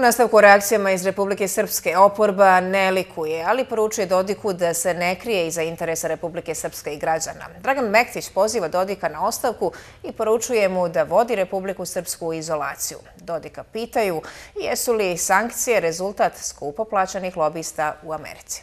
U nastavku reakcijama iz Republike Srpske oporba ne likuje, ali poručuje Dodiku da se ne krije iza interesa Republike Srpske i građana. Dragan Mektić poziva Dodika na ostavku i poručuje mu da vodi Republiku Srpsku u izolaciju. Dodika pitaju jesu li sankcije rezultat skupo plaćanih lobista u Americi.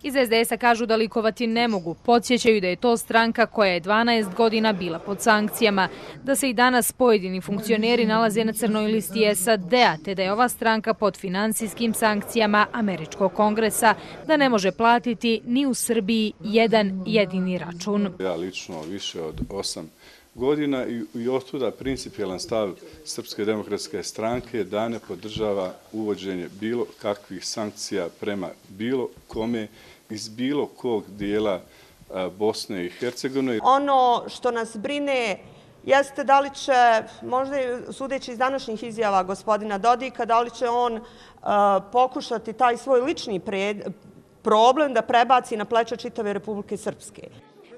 Iz SDS-a kažu da likovati ne mogu. Podsjećaju da je to stranka koja je 12 godina bila pod sankcijama, da se i danas pojedini funkcioneri nalaze na crnoj listi SAD-a, te da je ova stranka pod finansijskim sankcijama Američkog kongresa, da ne može platiti ni u Srbiji jedan jedini račun. Ja lično više od 8 godina i otuda principijelan stav Srpske demokratske stranke da ne podržava uvođenje bilo kakvih sankcija prema bilo kome iz bilo kog dijela Bosne i Hercegovine. Ono što nas brine jeste da li će, možda sudeći iz današnjih izjava gospodina Dodika, da li će on pokušati taj svoj lični problem da prebaci na pleća čitave Republike Srpske.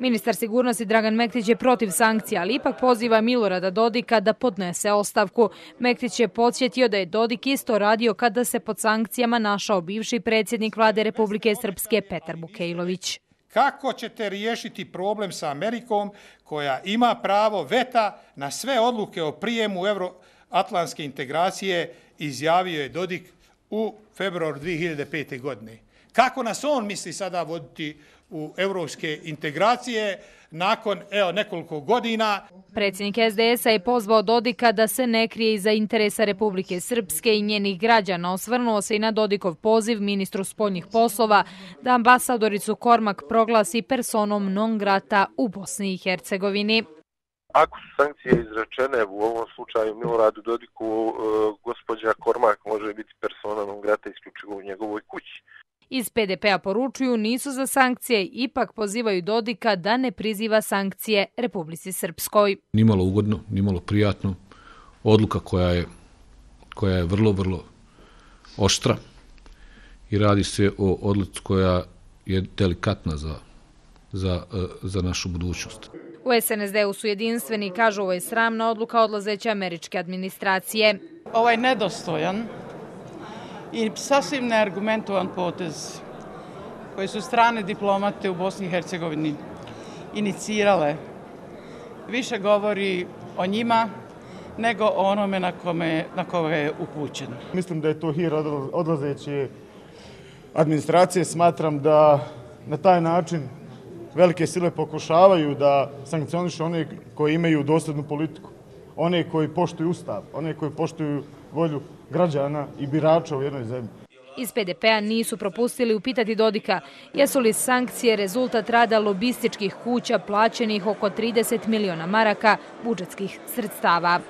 Ministar sigurnosti Dragan Mektić je protiv sankcija, ali ipak poziva Milorada Dodika da podnese ostavku. Mektić je podsjetio da je Dodik isto radio kada se pod sankcijama našao bivši predsjednik vlade Republike Srpske Petar Bukejlović. Kako ćete riješiti problem sa Amerikom koja ima pravo veta na sve odluke o prijemu euroatlantske integracije, izjavio je Dodik u februaru 2005. godine. Kako nas on misli sada voditi u evropske integracije nakon nekoliko godina? Predsjednik SDS-a je pozvao Dodika da se ne krije iza interesa Republike Srpske i njenih građana. Osvrnuo se i na Dodikov poziv ministru spoljnih poslova da ambasadoricu Kormak proglasi personom non grata u Bosni i Hercegovini. Ako su sankcije izrečene u ovom slučaju Miloradu Dodiku, gospođa Kormak može biti persona non grata isključivo u njegovoj kući. Iz PDP-a poručuju nisu za sankcije, ipak pozivaju Dodika da ne priziva sankcije Republici Srpskoj. Nimalo ugodno, nimalo prijatno. Odluka koja je vrlo, vrlo oštra i radi se o odluci koja je delikatna za našu budućnost. U SNSD-u su jedinstveni, kažu ovo je sramna odluka odlazeće američke administracije. Ovo je nedostojan i sasvim neargumentovan potez koji su strane diplomate u Bosni i Hercegovini inicirale. Više govori o njima nego o onome na koga je upućen. Mislim da je to hir odlazeće administracije. Smatram da na taj način velike sile pokušavaju da sankcionišu one koji imaju dosljednu politiku, one koji poštuju ustav, one koji poštuju volju građana i birača u jednoj zemlji. Iz PDP-a nisu propustili upitati Dodika jesu li sankcije rezultat rada lobističkih kuća plaćenih oko 30 miliona maraka budžetskih sredstava.